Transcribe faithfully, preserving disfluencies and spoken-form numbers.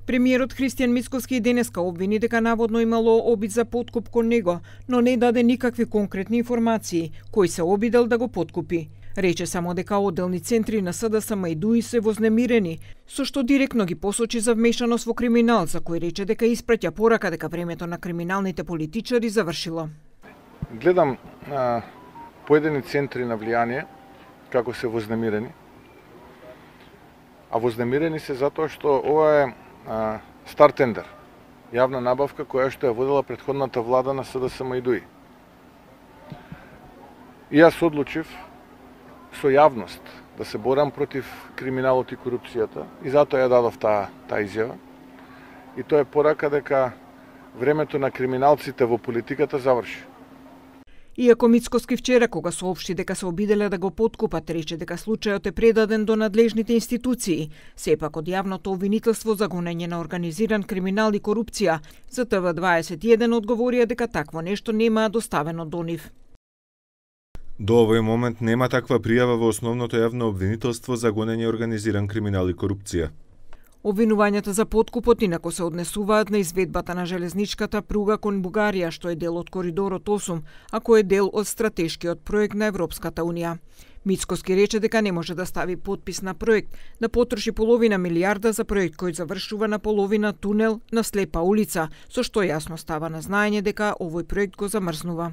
Премиерот Христијан Мицкоски денеска обвини дека наводно имало обид за подкуп кон него, но не даде никакви конкретни информации кој се обидел да го подкупи. Рече само дека одделни центри на СДСМ и ДУИ се вознемирени, со што директно ги посочи за вмешаност во криминал, за кој рече дека испраќа порака дека времето на криминалните политичари завршило. Гледам а, поедини центри на влијание како се вознемирени. А вознемирени се затоа што ова е а, стар тендер, јавна набавка која што ја водела претходната влада на СДСМ и ДУИ. И јас одлучив со јавност да се борам против криминалот и корупцијата и затоа ја дадов таа таа изјава. И тоа е порака дека времето на криминалците во политиката заврши. Иако Мицкоски вчера, кога соопшти дека се обиделе да го подкупат, рече дека случајот е предаден до надлежните институции, сепак од јавното обвинителство за гонење на организиран криминал и корупција, за Т В дваесет и еден одговорија дека такво нешто нема доставено до нив. До овој момент нема таква пријава во основното јавно обвинителство за гонење организиран криминал и корупција. Обвинувањата за подкупот инако се однесуваат на изведбата на железничката пруга кон Бугарија, што е дел од Коридорот осум, а кој е дел од стратешкиот проект на Европската Унија. Мицкоски рече дека не може да стави подпис на проект, да потроши половина милијарда за проект кој завршува на половина тунел на слепа улица, со што јасно става на знаење дека овој проект го замрзнува.